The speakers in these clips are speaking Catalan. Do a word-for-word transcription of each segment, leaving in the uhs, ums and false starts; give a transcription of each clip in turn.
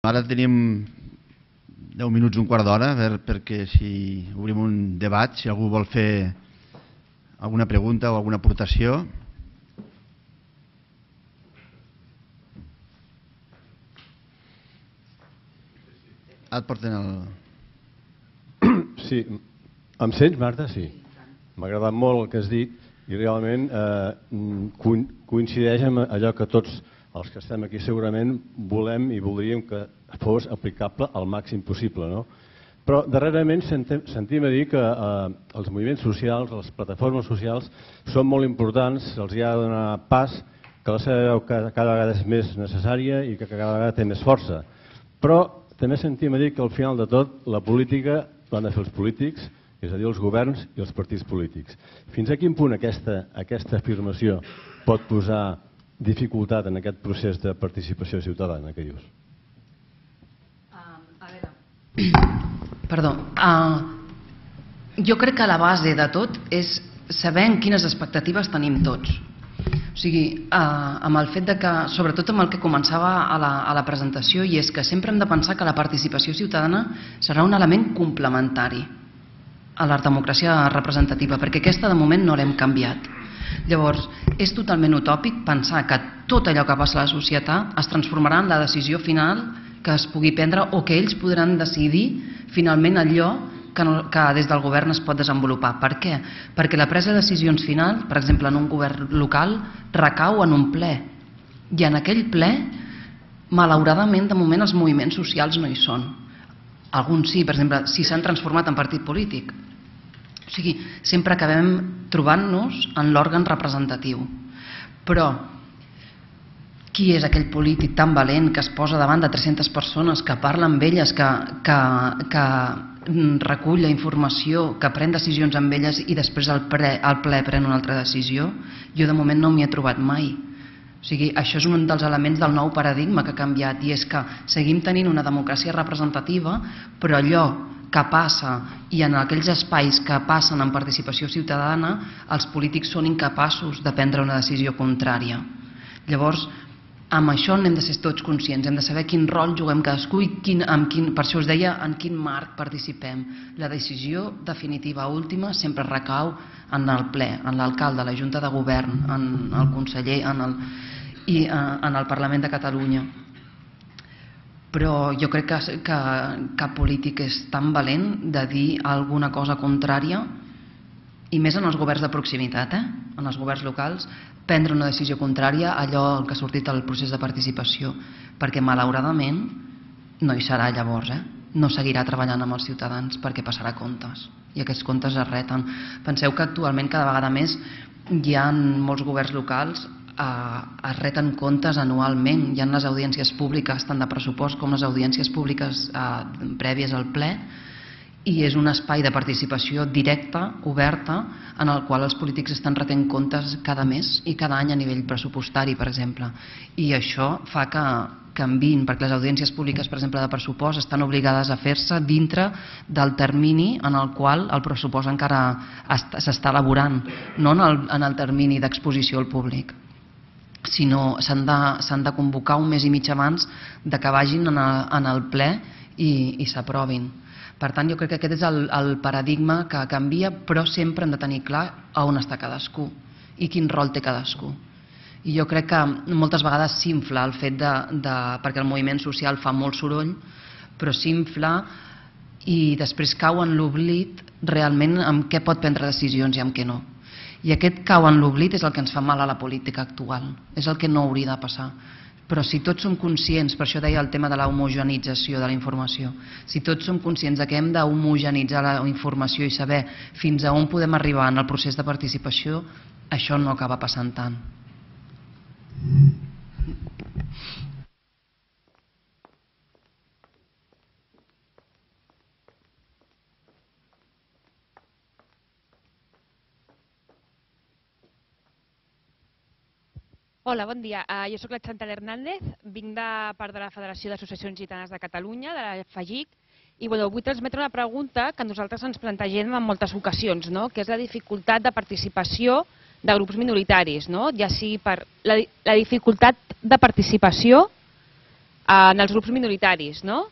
Ara tenim deu minuts, un quart d'hora, perquè si obrim un debat, si algú vol fer alguna pregunta o alguna aportació. Et porten el... Sí, em sents, Marta? Sí. M'ha agradat molt el que has dit i realment coincideix amb allò que tots els que estem aquí segurament volem i voldríem que fos aplicable al màxim possible. Però darrerament sentim a dir que els moviments socials, les plataformes socials són molt importants, se'ls ha de donar pas, que la seva veu cada vegada és més necessària i que cada vegada té més força. Però també sentim a dir que al final de tot la política l'han de fer els polítics, és a dir, els governs i els partits polítics. Fins a quin punt aquesta afirmació pot posar dificultat en aquest procés de participació ciutadana, què dius? A veure... Perdó. Jo crec que la base de tot és saber en quines expectatives tenim tots. O sigui, amb el fet de que, sobretot amb el que començava a la presentació, i és que sempre hem de pensar que la participació ciutadana serà un element complementari a la democràcia representativa, perquè aquesta de moment no l'hem canviat. Llavors, és totalment utòpic pensar que tot allò que passa a la societat es transformarà en la decisió final que es pugui prendre o que ells podran decidir finalment allò que des del govern es pot desenvolupar. Per què? Perquè la presa de decisions final, per exemple en un govern local, recau en un ple. I en aquell ple, malauradament, de moment els moviments socials no hi són. Alguns sí, per exemple, si s'han transformat en partit polític. O sigui, sempre acabem trobant-nos en l'òrgan representatiu. Però qui és aquell polític tan valent que es posa davant de tres-centes persones, que parla amb elles, que recull la informació, que pren decisions amb elles i després al ple pren una altra decisió? Jo de moment no m'hi he trobat mai. O sigui, això és un dels elements del nou paradigma que ha canviat, i és que seguim tenint una democràcia representativa, però allò que passa i en aquells espais que passen en participació ciutadana, els polítics són incapaços de prendre una decisió contrària. Llavors, amb això n'hem de ser tots conscients, hem de saber quin rol juguem cadascú i per això us deia en quin marc participem. La decisió definitiva última sempre recau en el ple, en l'alcalde, la Junta de Govern, en el conseller i en el Parlament de Catalunya. Però jo crec que cap polític és tan valent de dir alguna cosa contrària, i més en els governs de proximitat, en els governs locals, prendre una decisió contrària a allò que ha sortit al procés de participació, perquè malauradament no hi serà llavors, no seguirà treballant amb els ciutadans perquè passarà comptes, i aquests comptes es reten. Penseu que actualment cada vegada més hi ha molts governs locals es reten comptes anualment, hi ha les audiències públiques tant de pressupost com les audiències públiques prèvies al ple, i és un espai de participació directa, oberta, en el qual els polítics estan retent comptes cada mes i cada any a nivell pressupostari, per exemple. I això fa que canviïn, perquè les audiències públiques, per exemple, de pressupost, estan obligades a fer-se dintre del termini en el qual el pressupost encara s'està elaborant, no en el termini d'exposició al públic, sinó s'han de convocar un mes i mig abans que vagin en el ple i s'aprovin. Per tant, jo crec que aquest és el paradigma que canvia, però sempre hem de tenir clar on està cadascú i quin rol té cadascú. I jo crec que moltes vegades s'infla el fet de... perquè el moviment social fa molt soroll, però s'infla i després cau en l'oblit realment amb què pot prendre decisions i amb què no. I aquest cau en l'oblit és el que ens fa mal a la política actual, és el que no hauria de passar. Però si tots som conscients, per això deia el tema de la homogeneïtzació de la informació, si tots som conscients que hem d'homogenitzar la informació i saber fins a on podem arribar en el procés de participació, això no acaba passant tant. Hola, bon dia. Jo soc la Chantal Hernández, vinc de part de la Federació d'Associacions Gitanes de Catalunya, de la FAGIC, i vull transmetre una pregunta que nosaltres ens plantegem en moltes ocasions, que és la dificultat de participació de grups minoritaris, ja sigui per la dificultat de participació en els grups minoritaris, no?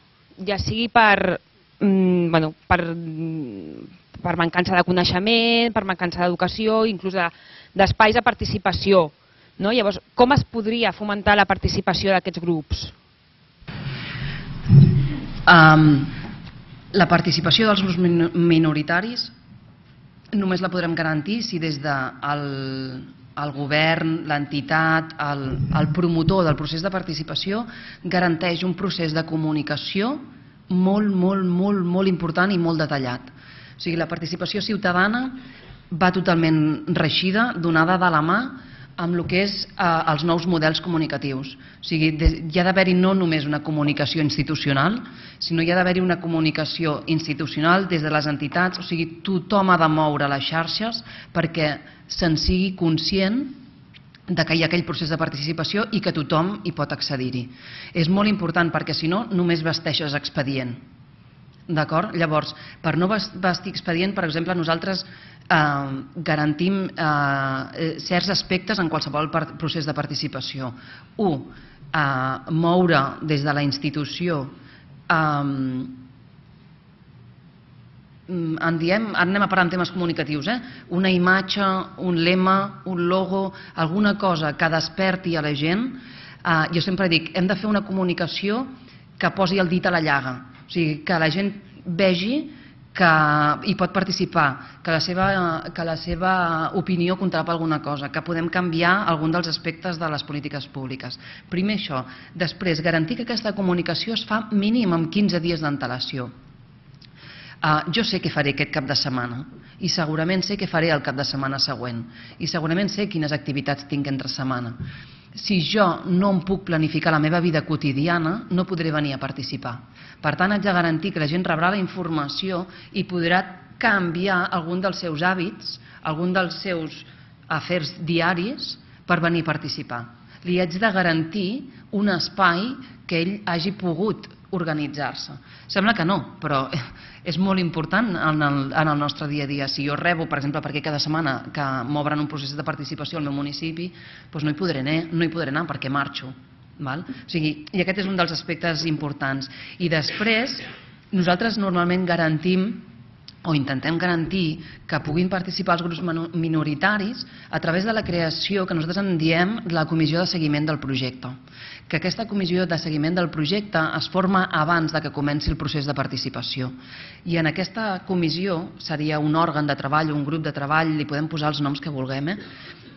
Ja sigui per, mm, bueno, per, per mancança de coneixement, per mancança d'educació, inclús d'espais de participació. No? Llavors, com es podria fomentar la participació d'aquests grups? Um, la participació dels grups minoritaris només la podrem garantir si des del el govern, l'entitat, el, el promotor del procés de participació garanteix un procés de comunicació molt, molt, molt, molt important i molt detallat. O sigui, la participació ciutadana va totalment reixida, donada de la mà amb el que és eh, els nous models comunicatius. O sigui, hi ha d'haver-hi no només una comunicació institucional, sinó hi ha d'haver-hi una comunicació institucional des de les entitats, o sigui, tothom ha de moure les xarxes perquè se'n sigui conscient de que hi ha aquell procés de participació i que tothom hi pot accedir-hi. És molt important perquè si no, només vesteixes expedient. D'acord? Llavors, per no vestir expedient, per exemple, nosaltres eh, garantim eh, certs aspectes en qualsevol procés de participació. Un, eh, moure des de la institució eh, en diem, ara anem a parar en temes comunicatius, eh? una imatge, un lema, un logo, alguna cosa que desperti a la gent. Eh, jo sempre dic, hem de fer una comunicació que posi el dit a la llaga, o sigui, que la gent vegi que hi pot participar, que la seva, que la seva opinió comptarà per alguna cosa, que podem canviar algun dels aspectes de les polítiques públiques. Primer això. Després, garantir que aquesta comunicació es fa mínim amb quinze dies d'antelació. Uh, jo sé què faré aquest cap de setmana i segurament sé què faré el cap de setmana següent i segurament sé quines activitats tinc entre setmana. Si jo no em puc planificar la meva vida quotidiana, no podré venir a participar. Per tant, haig de garantir que la gent rebrà la informació i podrà canviar algun dels seus hàbits, algun dels seus afers diaris per venir a participar. Li haig de garantir un espai que ell hagi pogut organitzar-se. Sembla que no, però és molt important en el, en el nostre dia a dia. Si jo rebo, per exemple, perquè cada setmana que m'obren un procés de participació al meu municipi, doncs no hi podré anar, no hi podré anar perquè marxo. Val? O sigui, i aquest és un dels aspectes importants. I després, nosaltres normalment garantim o intentem garantir que puguin participar els grups minoritaris a través de la creació que nosaltres en diem la comissió de seguiment del projecte. Que aquesta comissió de seguiment del projecte es forma abans de que comenci el procés de participació. I en aquesta comissió seria un òrgan de treball, un grup de treball, li podem posar els noms que vulguem, eh?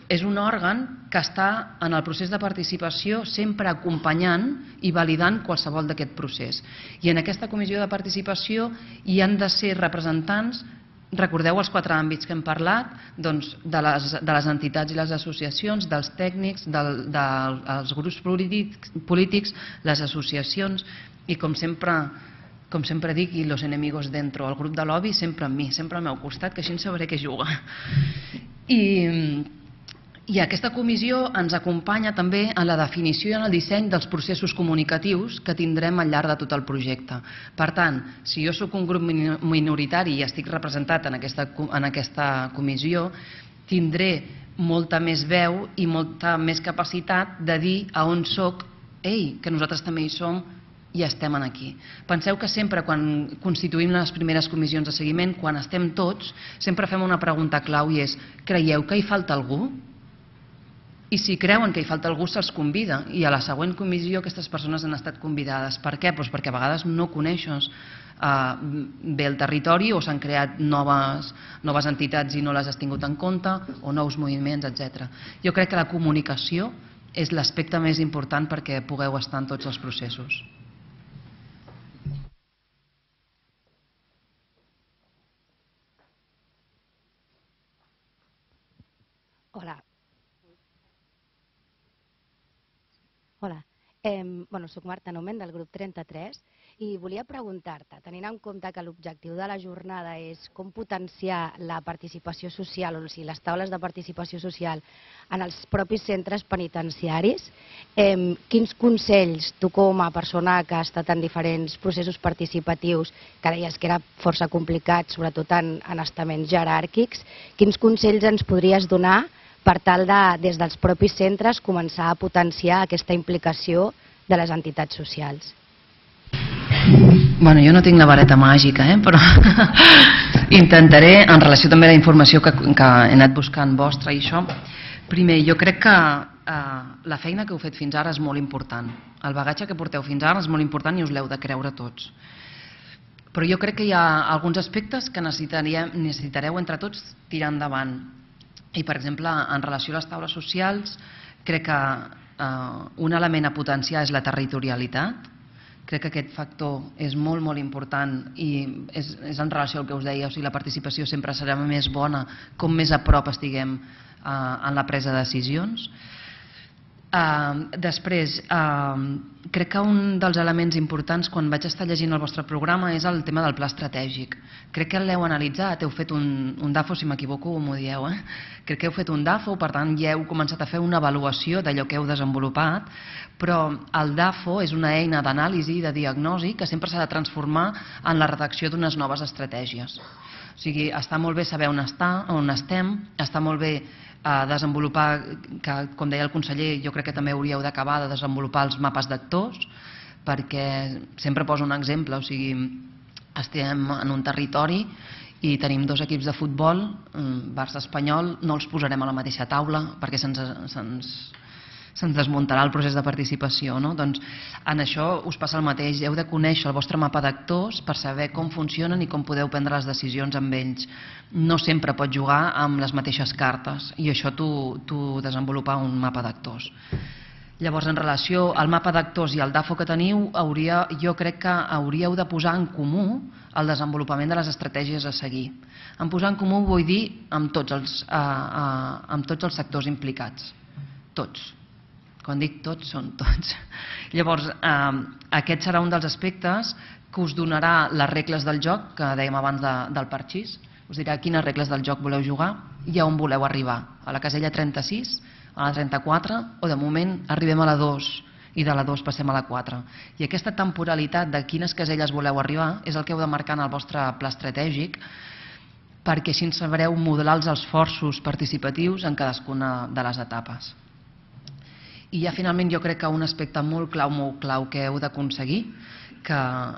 És un òrgan que està en el procés de participació sempre acompanyant i validant qualsevol d'aquest procés. I en aquesta comissió de participació hi han de ser representants, recordeu els quatre àmbits que hem parlat, doncs de, les, de les entitats i les associacions, dels tècnics, del, dels grups polítics, polítics, les associacions i com sempre, com sempre dic, i los enemigos dentro, el grup de lobby sempre amb mi, sempre al meu costat, que així en sabré què juga. I... I aquesta comissió ens acompanya també en la definició i en el disseny dels processos comunicatius que tindrem al llarg de tot el projecte. Per tant, si jo sóc un grup minoritari i estic representat en aquesta, en aquesta comissió, tindré molta més veu i molta més capacitat de dir a on soc, ei, que nosaltres també hi som i estem aquí. Penseu que sempre quan constituïm les primeres comissions de seguiment, quan estem tots, sempre fem una pregunta clau i és, creieu que hi falta algú? I si creuen que hi falta algú, se'ls convida. I a la següent comissió aquestes persones han estat convidades. Per què? Doncs perquè a vegades no coneixes eh, bé el territori o s'han creat noves, noves entitats i no les has tingut en compte, o nous moviments, etcètera. Jo crec que la comunicació és l'aspecte més important perquè pugueu estar en tots els processos. Hola. Hola, eh, bueno, soc Marta Nomen del grup trenta-tres i volia preguntar-te, tenint en compte que l'objectiu de la jornada és com potenciar la participació social, o sigui, les taules de participació social en els propis centres penitenciaris, eh, quins consells tu com a persona que ha estat en diferents processos participatius, que deies que era força complicat, sobretot en, en estaments jeràrquics, quins consells ens podries donar per tal de, des dels propis centres, començar a potenciar aquesta implicació de les entitats socials. Bueno, jo no tinc la vareta màgica, eh? Però intentaré, en relació també a la informació que, que he anat buscant vostra i això, primer, jo crec que eh, la feina que heu fet fins ara és molt important. El bagatge que porteu fins ara és molt important i us l'heu de creure tots. Però jo crec que hi ha alguns aspectes que necessitareu entre tots tirar endavant. I, per exemple, en relació a les taules socials, crec que eh, un element a potenciar és la territorialitat. Crec que aquest factor és molt, molt important i és, és en relació al que us deia, o sigui, la participació sempre serà més bona com més a prop estiguem eh, en la presa de decisions. Uh, després, uh, crec que un dels elements importants quan vaig estar llegint el vostre programa és el tema del pla estratègic. Crec que l'heu analitzat, heu fet un, un DAFO, si m'equivoco m'ho dieu, eh? Crec que heu fet un DAFO, per tant ja heu començat a fer una avaluació d'allò que heu desenvolupat, però el DAFO és una eina d'anàlisi i de diagnosi que sempre s'ha de transformar en la redacció d'unes noves estratègies. O sigui, està molt bé saber on, està, on estem, està molt bé a desenvolupar, que com deia el conseller, jo crec que també hauríeu d'acabar de desenvolupar els mapes d'actors, perquè sempre poso un exemple, o sigui, estem en un territori i tenim dos equips de futbol, Barça Espanyol, no els posarem a la mateixa taula perquè se'ns se'ns se'ns desmuntarà el procés de participació, no? Doncs en això us passa el mateix, heu de conèixer el vostre mapa d'actors per saber com funcionen i com podeu prendre les decisions amb ells. No sempre pots jugar amb les mateixes cartes i això t'ho desenvolupar un mapa d'actors. Llavors, en relació al mapa d'actors i al DAFO que teniu, hauria, jo crec que hauríeu de posar en comú el desenvolupament de les estratègies a seguir. En posar en comú vull dir amb tots els, eh, eh, amb tots els sectors implicats, tots. Quan dic tots, són tots. Llavors, eh, aquest serà un dels aspectes que us donarà les regles del joc, que dèiem abans de, del parxís. Us dirà quines regles del joc voleu jugar i a on voleu arribar. A la casella trenta-sis, a la trenta-quatre, o de moment arribem a la dos i de la dos passem a la quatre. I aquesta temporalitat de quines caselles voleu arribar és el que heu de marcar en el vostre pla estratègic, perquè així sabreu modelar els esforços participatius en cadascuna de les etapes. I ja finalment jo crec que un aspecte molt clau, molt clau que heu d'aconseguir, que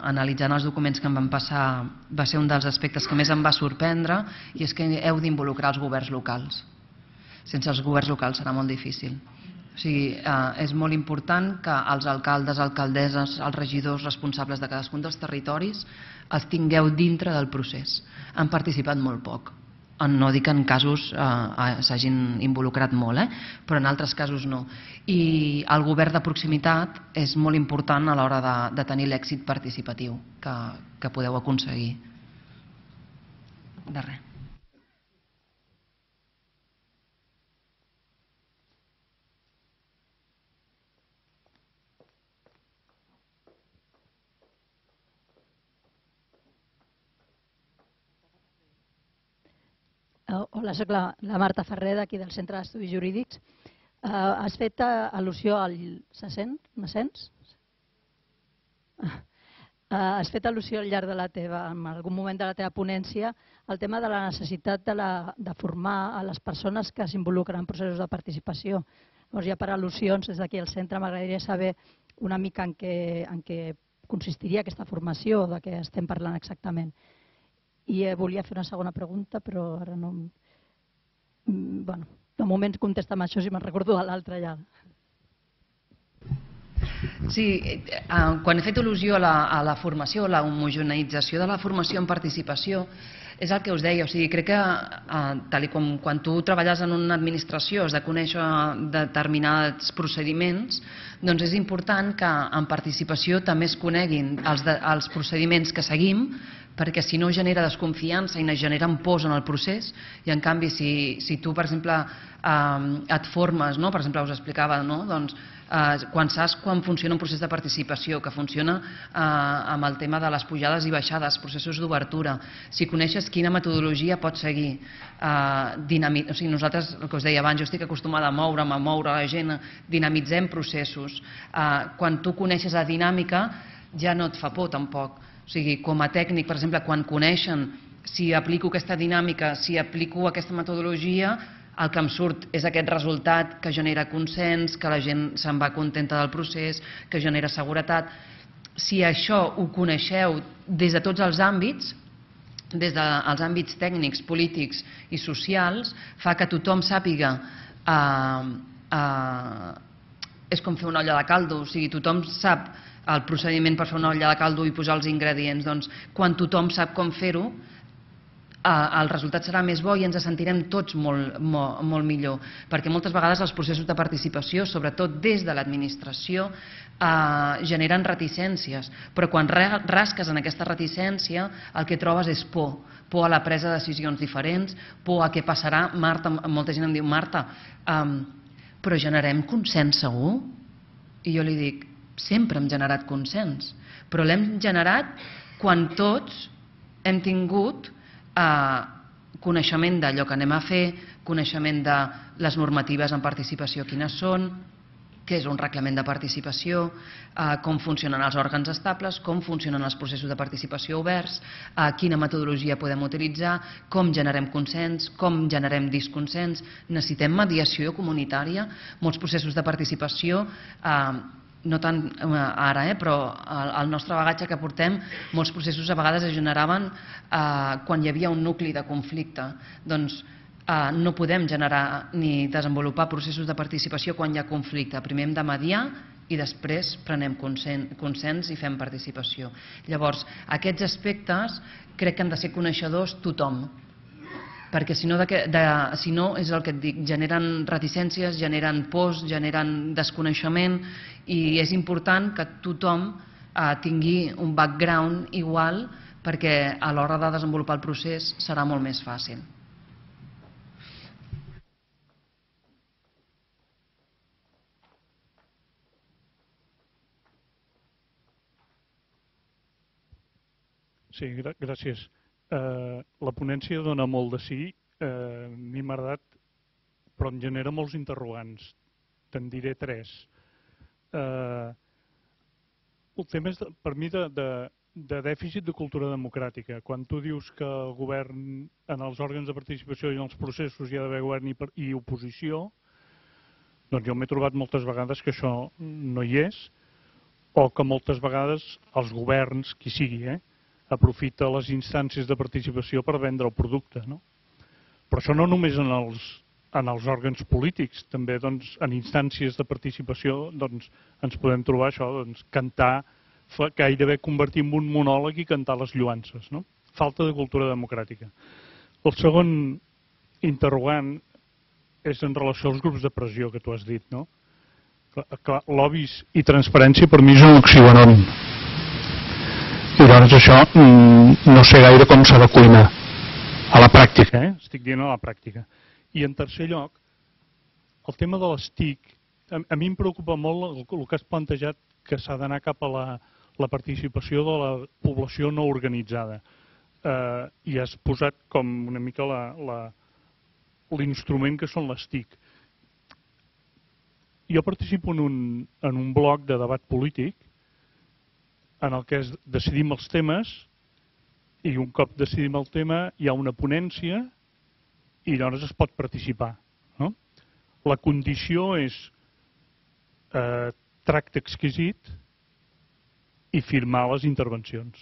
analitzant els documents que em van passar va ser un dels aspectes que més em va sorprendre, i és que heu d'involucrar els governs locals. Sense els governs locals serà molt difícil. O sigui, eh, és molt important que els alcaldes, alcaldesses, els regidors responsables de cadascun dels territoris els tingueu dintre del procés. Han participat molt poc. No dic que en casos eh, s'hagin involucrat molt, eh? Però en altres casos no. I el govern de proximitat és molt important a l'hora de, de tenir l'èxit participatiu que, que podeu aconseguir. De res. Hola, soc la, la Marta Ferrer, d'aquí del Centre d'Estudis Jurídics. Uh, has fet uh, al·lusió al... Se sent? Me sents? Uh, has fet al·lusió al llarg de la teva, en algun moment de la teva ponència, el tema de la necessitat de, la, de formar a les persones que s'involucren en processos de participació. Llavors, ja per al·lusions, des d'aquí al centre m'agradaria saber una mica en què, en què consistiria aquesta formació, de què estem parlant exactament. I volia fer una segona pregunta, però ara no... Bueno, de moment contesta amb això, si me'n recordo de l'altra ja. Sí, quan he fet al·lusió a la, a la formació, a la homogeneïtzació de la formació en participació, és el que us deia, o sigui, crec que tal com quan tu treballes en una administració has de conèixer determinats procediments, doncs és important que en participació també es coneguin els, de, els procediments que seguim, perquè si no genera desconfiança i no generen pors en el procés, i en canvi si, si tu, per exemple, eh, et formes, no? Per exemple, us explicava, no? Doncs, eh, quan saps quan funciona un procés de participació, que funciona eh, amb el tema de les pujades i baixades, processos d'obertura, si coneixes quina metodologia pots seguir, eh, dinamit... o sigui, nosaltres, el que us deia abans, jo estic acostumada a moure'm, a moure la gent, dinamitzem processos. Eh, quan tu coneixes la dinàmica, ja no et fa por tampoc. O sigui, com a tècnic, per exemple, quan coneixen si aplico aquesta dinàmica, si aplico aquesta metodologia, el que em surt és aquest resultat que genera consens, que la gent se'n va contenta del procés, que genera seguretat. Si això ho coneixeu des de tots els àmbits, des dels àmbits tècnics, polítics i socials, fa que tothom sàpiga eh, eh, és com fer una olla de caldo, o sigui, tothom sap el procediment per fer una olla de caldo i posar els ingredients. Doncs, quan tothom sap com fer-ho, el resultat serà més bo i ens sentirem tots molt, molt, molt millor, perquè moltes vegades els processos de participació, sobretot des de l'administració, eh, generen reticències, però quan rasques en aquesta reticència el que trobes és por, por a la presa de decisions diferents, por a què passarà. Marta, molta gent em diu, Marta, eh, però generem consens segur? I jo li dic, sempre hem generat consens, però l'hem generat quan tots hem tingut eh, coneixement d'allò que anem a fer, coneixement de les normatives en participació, quines són, què és un reglament de participació, eh, com funcionen els òrgans estables, com funcionen els processos de participació oberts, eh, quina metodologia podem utilitzar, com generem consens, com generem disconsens. Necessitem mediació comunitària. Molts processos de participació, eh, no tant ara, eh, però el nostre bagatge que portem, molts processos a vegades es generaven eh, quan hi havia un nucli de conflicte. Doncs eh, no podem generar ni desenvolupar processos de participació quan hi ha conflicte. Primer hem de mediar i després prenem consens, consens i fem participació. Llavors, aquests aspectes crec que han de ser coneixedors tothom, perquè si no, de, de, si no és el que et dic, generen reticències, generen pors, generen desconeixement, i és important que tothom eh, tingui un background igual, perquè a l'hora de desenvolupar el procés serà molt més fàcil. Sí, gràcies. Uh, la ponència dona molt de sí, uh, a mi m'ha agradat, però em genera molts interrogants. Te'n diré tres. Uh, el tema és, de, per mi, de, de, de dèficit de cultura democràtica. Quan tu dius que el govern, en els òrgans de participació i en els processos hi ha d'haver govern i, i oposició, doncs jo m'he trobat moltes vegades que això no hi és, o que moltes vegades els governs, qui sigui, eh, aprofita les instàncies de participació per vendre el producte, no? Però això no només en els, en els òrgans polítics, també doncs, en instàncies de participació doncs, ens podem trobar això, doncs, cantar, gairebé convertir en un monòleg i cantar les lloances, no? Falta de cultura democràtica. El segon interrogant és en relació als grups de pressió que tu has dit, no? Clar, lobbies i transparència per mi és un oxímoron. I doncs això no sé gaire com s'ha de cuinar a la pràctica, eh? Estic dient a la pràctica. I en tercer lloc, el tema de les T I C, a, a mi em preocupa molt el, el que has plantejat, que s'ha d'anar cap a la, la participació de la població no organitzada. Eh, I has posat com una mica l'instrument que són les T I C. Jo participo en un, en un bloc de debat polític en el que decidim els temes i un cop decidim el tema hi ha una ponència i llavors es pot participar, no? La condició és eh, tracte exquisit i firmar les intervencions.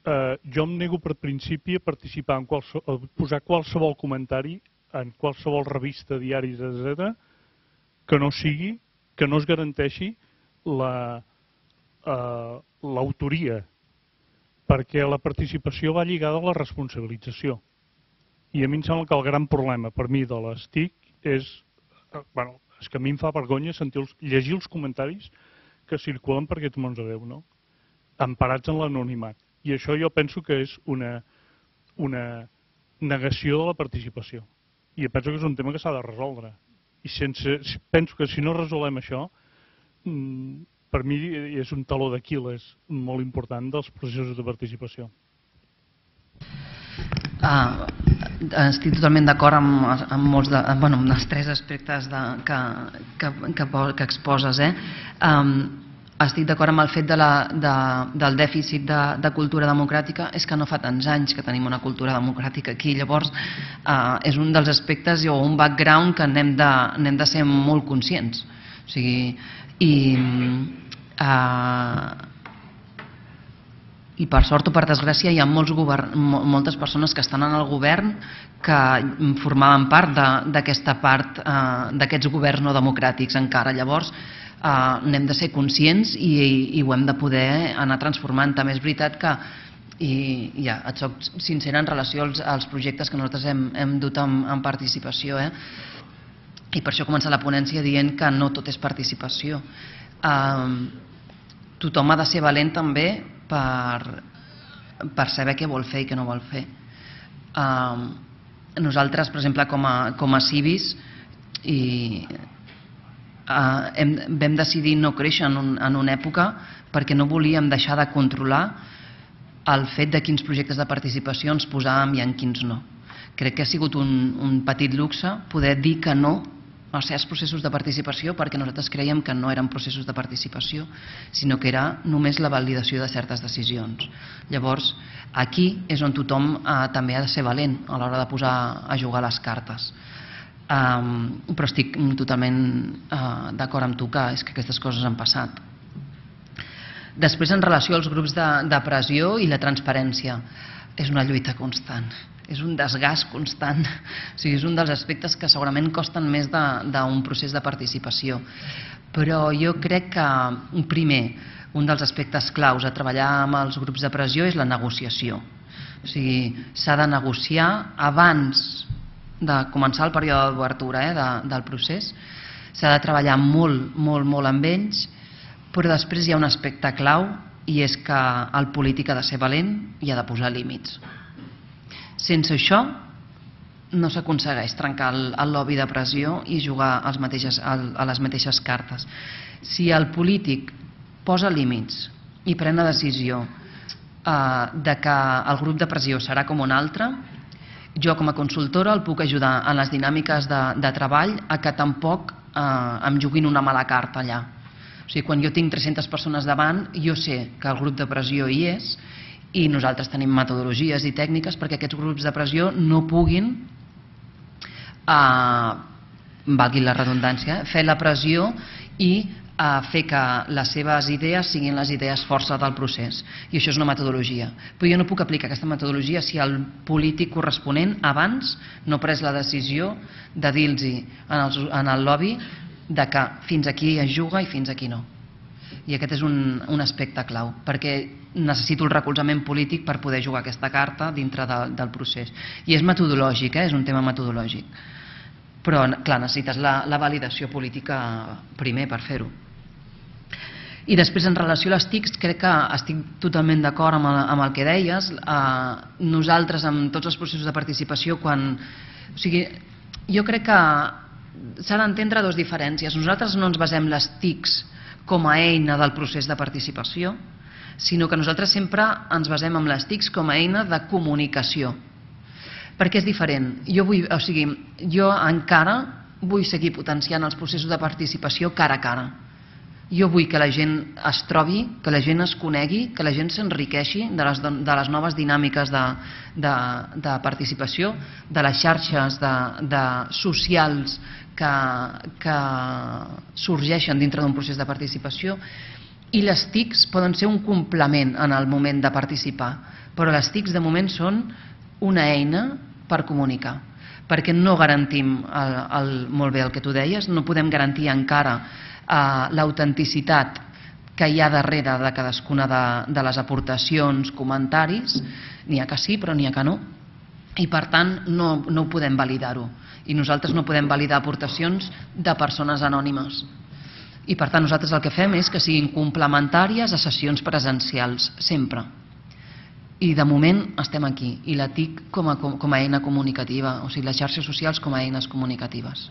Eh, jo em nego per principi a participar en qualsevol, a posar qualsevol comentari en qualsevol revista, diaris, etcètera, que no sigui, que no es garanteixi la Uh, l'autoria, perquè la participació va lligada a la responsabilització. I a mi em sembla que el gran problema per mi de les T I C és, uh, bueno, és que a mi em fa vergonya sentir els, llegir els comentaris que circulen per aquests mons de Déu, no? Emparats en l'anonimat. I això jo penso que és una, una negació de la participació. I penso que és un tema que s'ha de resoldre. I sense, penso que si no resolem això, mmm, per mi és un taló d'Aquil·les molt important dels processos de participació. Uh, estic totalment d'acord amb, amb, molts de, bueno, amb els tres aspectes de, que, que, que, que exposes. Eh? Um, estic d'acord amb el fet de la, de, del dèficit de, de cultura democràtica, és que no fa tants anys que tenim una cultura democràtica aquí, llavors eh, és un dels aspectes o un background que n'hem de, n'hem de ser molt conscients. O sigui, i, eh, i per sort o per desgràcia hi ha molts govern, moltes persones que estan en el govern que formaven part d'aquesta part, eh, d'aquests governs no democràtics encara. Llavors, Uh, n'hem de ser conscients i, i, i ho hem de poder anar transformant. També és veritat que, i ja, et soc sincera en relació als, als projectes que nosaltres hem, hem dut en, en participació, eh? I per això he començat la ponència dient que no tot és participació. Uh, tothom ha de ser valent també per, per saber què vol fer i què no vol fer. Uh, nosaltres, per exemple, com a, com a civis, i Uh, hem, vam decidir no créixer en, un, en una època perquè no volíem deixar de controlar el fet de quins projectes de participació ens posàvem i en quins no. Crec que ha sigut un, un petit luxe poder dir que no a certs processos de participació perquè nosaltres creiem que no eren processos de participació, sinó que era només la validació de certes decisions. Llavors, aquí és on tothom uh, també ha de ser valent a l'hora de posar a jugar les cartes. Um, però estic totalment uh, d'acord amb tu que és que aquestes coses han passat. Després, en relació als grups de, de pressió i la transparència, és una lluita constant, és un desgast constant, o sigui, és un dels aspectes que segurament costen més d'un procés de participació, però jo crec que, primer, un dels aspectes claus a treballar amb els grups de pressió és la negociació. O sigui, s'ha de negociar abans de començar el període d'obertura eh, de, del procés, s'ha de treballar molt, molt, molt amb ells, però després hi ha un aspecte clau i és que el polític ha de ser valent i ha de posar límits. Sense això no s'aconsegueix trencar el, el lobby de pressió i jugar als mateixes, a les mateixes cartes. Si el polític posa límits i pren la decisió eh, de que el grup de pressió serà com un altre, jo com a consultora el puc ajudar en les dinàmiques de, de treball a que tampoc eh, em juguin una mala carta allà. O sigui, quan jo tinc tres-centes persones davant, jo sé que el grup de pressió hi és i nosaltres tenim metodologies i tècniques perquè aquests grups de pressió no puguin, eh, valgui la redundància, fer la pressió i a fer que les seves idees siguin les idees força del procés. I això és una metodologia. Però jo no puc aplicar aquesta metodologia si el polític corresponent abans no ha pres la decisió de dir-los en, en el lobby de que fins aquí es juga i fins aquí no. I aquest és un, un aspecte clau, perquè necessito el recolzament polític per poder jugar aquesta carta dintre de, del procés. I és metodològic, eh? És un tema metodològic. Però, clar, necessites la, la validació política primer per fer-ho. I després, en relació a les T I Cs, crec que estic totalment d'acord amb, el, amb el que deies. Eh, nosaltres, amb tots els processos de participació, quan... O sigui, jo crec que s'ha d'entendre dues diferències. Nosaltres no ens basem les T I Cs com a eina del procés de participació, sinó que nosaltres sempre ens basem en les T I Cs com a eina de comunicació. Perquè és diferent. Jo, vull, o sigui, jo encara vull seguir potenciant els processos de participació cara a cara. Jo vull que la gent es trobi, que la gent es conegui, que la gent s'enriqueixi de, les, de les noves dinàmiques de, de, de participació, de les xarxes de, de socials que, que sorgeixen dintre d'un procés de participació, i les T I Cs poden ser un complement en el moment de participar, però les T I Cs de moment són una eina per comunicar, perquè no garantim el, el, molt bé el que tu deies, no podem garantir encara eh, l'autenticitat que hi ha darrere de cadascuna de, de les aportacions, comentaris, n'hi ha que sí però n'hi ha que no, i per tant no, no ho podem validar-ho, i nosaltres no podem validar aportacions de persones anònimes, i per tant nosaltres el que fem és que siguin complementàries a sessions presencials, sempre. I de moment estem aquí, i la T I C com a, com a eina comunicativa, o sigui, les xarxes socials com a eines comunicatives.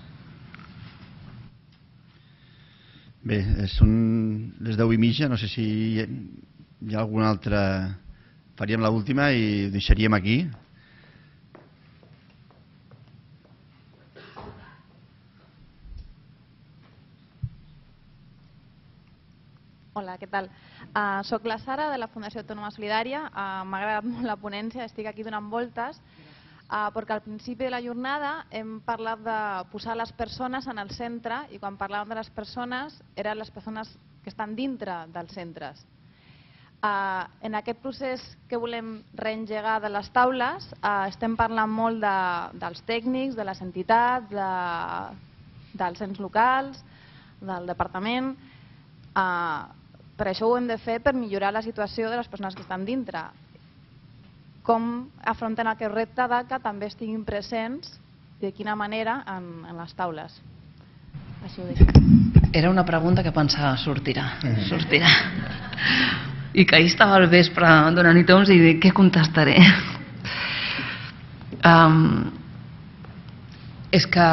Bé, són les deu i mitja, no sé si hi ha alguna altra... Faríem l'última i deixaríem aquí. Hola, què tal? Uh, soc la Sara, de la Fundació Autònoma Solidària. Uh, M'ha agradat molt la ponència, estic aquí donant voltes, uh, perquè al principi de la jornada hem parlat de posar les persones en el centre, i quan parlàvem de les persones, eren les persones que estan dintre dels centres. Uh, en aquest procés que volem reengegar de les taules, uh, estem parlant molt de, dels tècnics, de les entitats, de, dels ens locals, del departament. Uh, per això ho hem de fer per millorar la situació de les persones que estan dintre. Com afronten aquest repte de que també estiguin presents i de quina manera en, en les taules. Això ho deixo. Era una pregunta que pensava sortirà, sortirà. I que ahir estava al vespre donant-hi toms i dic, què contestaré? Um, és que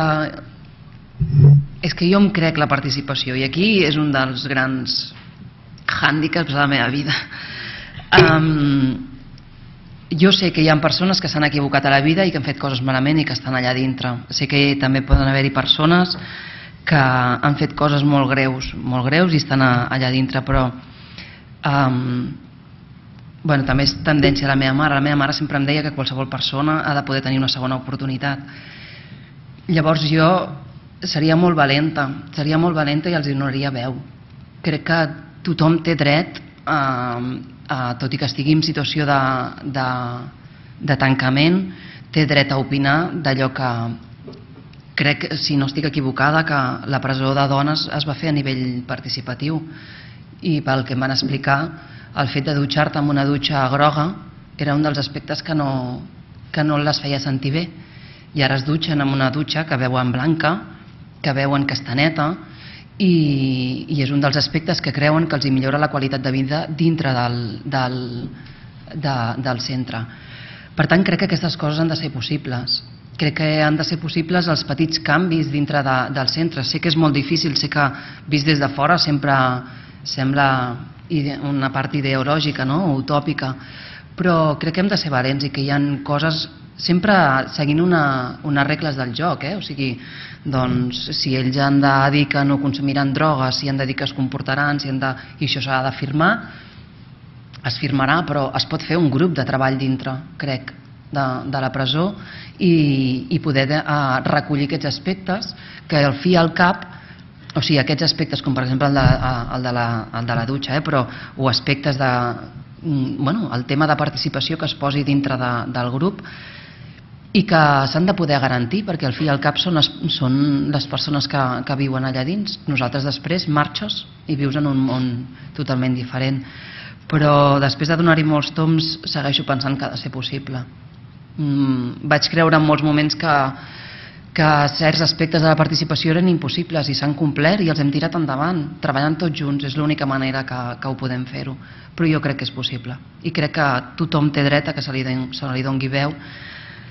és que jo em crec la participació i aquí és un dels grans hàndicaps de la meva vida. Um, jo sé que hi ha persones que s'han equivocat a la vida i que han fet coses malament i que estan allà dintre. Sé que també poden haver-hi persones que han fet coses molt greus, molt greus i estan allà dintre, però um, bueno, també és tendència a la meva mare. La meva mare sempre em deia que qualsevol persona ha de poder tenir una segona oportunitat. Llavors jo seria molt valenta, seria molt valenta i els donaria veu. Crec que tothom té dret, a, a, tot i que estigui en situació de, de, de tancament, té dret a opinar d'allò que crec, si no estic equivocada, que la presó de dones es va fer a nivell participatiu i pel que em van explicar, el fet de dutxar-te amb una dutxa groga era un dels aspectes que no, que no les feia sentir bé, i ara es dutxen amb una dutxa que veuen blanca, que veuen que està neta, i, i és un dels aspectes que creuen que els hi millora la qualitat de vida dintre del, del, de, del centre. Per tant, crec que aquestes coses han de ser possibles. Crec que han de ser possibles els petits canvis dintre de, del centre. Sé que és molt difícil, sé que vist des de fora sempre sembla una part ideològica, no? Utòpica, però crec que hem de ser valents i que hi ha coses sempre seguint una, unes regles del joc, eh? O sigui, doncs, si ells han de dir que no consumiran drogues, si han de dir que es comportaran, si han de, i això s'ha de firmar, es firmarà, però es pot fer un grup de treball dintre, crec, de, de la presó i, i poder de, uh, recollir aquests aspectes que al fi i al cap, o sigui, aquests aspectes com per exemple el de, el de, la, el de la dutxa, eh? Però, o aspectes de, bueno, el tema de participació que es posi dintre de, del grup i que s'han de poder garantir, perquè al fi i al cap són les, són les persones que, que viuen allà dins. Nosaltres després marxes i vius en un món totalment diferent, però després de donar-hi molts toms segueixo pensant que ha de ser possible. Mm, vaig creure en molts moments que, que certs aspectes de la participació eren impossibles i s'han complert i els hem tirat endavant, treballant tots junts, és l'única manera que, que ho podem fer-ho, però jo crec que és possible i crec que tothom té dret a que se li, se li doni veu,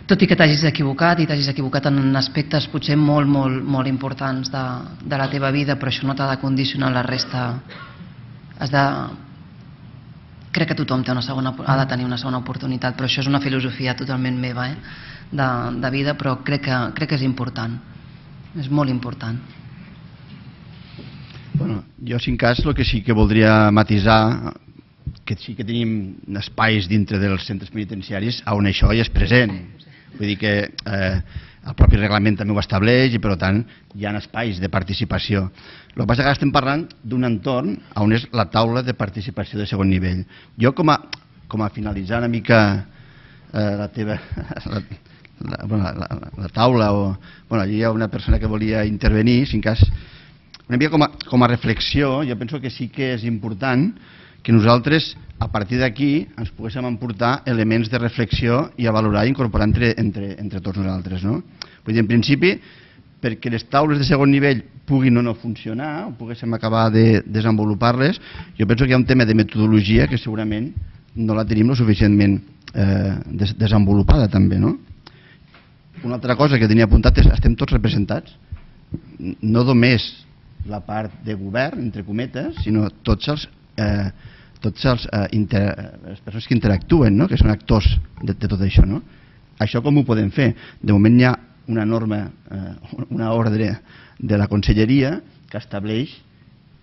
tot i que t'hagis equivocat i t'hagis equivocat en aspectes potser molt, molt, molt importants de, de la teva vida, però això no t'ha de condicionar la resta. Has de... Crec que tothom té una segona, ha de tenir una segona oportunitat, però això és una filosofia totalment meva, eh? de, de vida, però crec que, crec que és important, és molt important. Bueno, jo, si en cas, el que sí que voldria matisar, que sí que tenim espais dintre dels centres penitenciaris on això ja és present. Vull dir que eh, el propi reglament també ho estableix i per tant hi ha espais de participació. El que passa que ara estem parlant d'un entorn on és la taula de participació de segon nivell. Jo com a, com a finalitzar una mica eh, la teva la, la, bueno, la, la, la taula o, bueno, allí hi ha una persona que volia intervenir, si en cas una mica com a, com a reflexió, jo penso que sí que és important que nosaltres, a partir d'aquí, ens poguéssim emportar elements de reflexió i a valorar i incorporar entre, entre, entre tots nosaltres. No? Vull dir, en principi, perquè les taules de segon nivell puguin o no funcionar, o poguéssim acabar de desenvolupar-les, jo penso que hi ha un tema de metodologia que segurament no la tenim lo suficientment eh, des desenvolupada també. No? Una altra cosa que tenia apuntat és estem tots representats, no només la part de govern, entre cometes, sinó tots els Eh, tots els, eh, inter, les persones que interactuen, no? Que són actors de, de tot això. No? Això com ho podem fer? De moment hi ha una norma, eh, una ordre de la Conselleria que estableix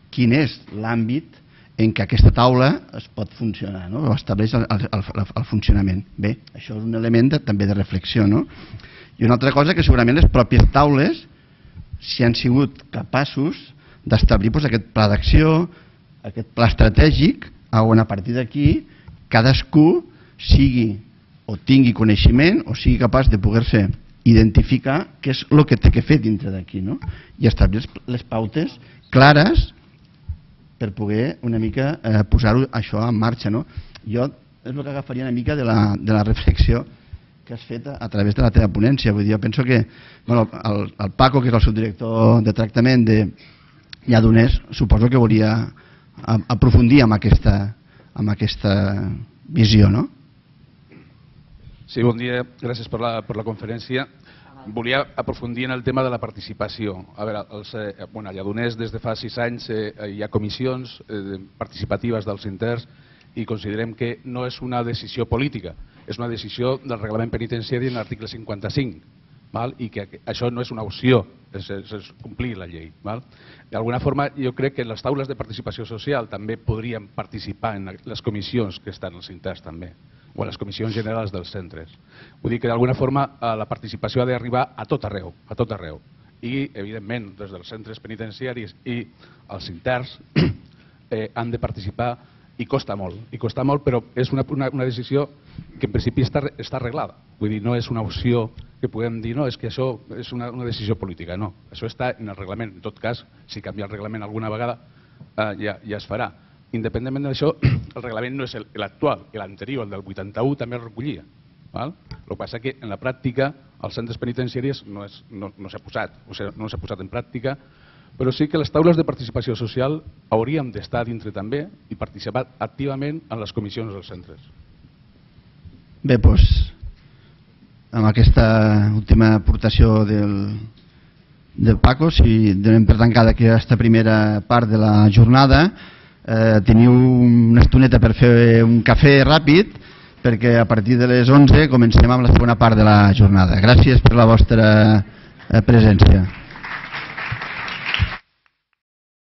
quin és l'àmbit en què aquesta taula es pot funcionar, no? O estableix el, el, el, el funcionament. Bé, això és un element de, també de reflexió, no? I una altra cosa que segurament les pròpies taules, si han sigut capaços d'establir doncs, aquest pla d'acció, aquest pla estratègic, on a partir d'aquí cadascú sigui o tingui coneixement o sigui capaç de poder-se identificar què és el que té que fer dintre d'aquí, no? I establir les pautes clares per poder una mica eh, posar-ho això en marxa, no? Jo és el que agafaria una mica de la, de la reflexió que has fet a, a través de la teva ponència. Vull dir, jo penso que bueno, el, el Paco, que és el subdirector de tractament de Lledoners, suposo que volia a, aprofundir amb aquesta, amb aquesta visió, no? Sí, bon dia, gràcies per la, per la conferència. Volia aprofundir en el tema de la participació. A veure, els, eh, bueno, a Lledoners des de fa sis anys eh, hi ha comissions eh, participatives dels interns i considerem que no és una decisió política, és una decisió del reglament penitenciari en l'article cinquanta-cinc, val? I que això no és una opció, és, és, és complir la llei. D'alguna forma, jo crec que les taules de participació social també podrien participar en les comissions que estan als interns també, o a les comissions generals dels centres. Vull dir que d'alguna forma la participació ha d'arribar a tot arreu, a tot arreu. I, evidentment, des dels centres penitenciaris i els interns eh, han de participar i costa molt, i costa molt, però és una, una, una decisió que en principi està, està arreglada. Vull dir, no és una opció que puguem dir, no, és que això és una, una decisió política, no. Això està en el reglament. En tot cas, si canvia el reglament alguna vegada, eh, ja, ja es farà. Independentment d'això, el reglament no és l'actual, l'anterior, el del vuitanta-u, també el recollia. Val? El que passa que en la pràctica, als centres penitenciaris no, és, no, no s'ha posat, o sigui, no s'ha posat en pràctica, però sí que les taules de participació social hauríem d'estar dintre també i participar activament en les comissions dels centres. Bé, doncs, amb aquesta última aportació del, del Paco, si donem per tancada aquesta primera part de la jornada, eh, teniu una estoneta per fer un cafè ràpid, perquè a partir de les onze comencem amb la segona part de la jornada. Gràcies per la vostra presència.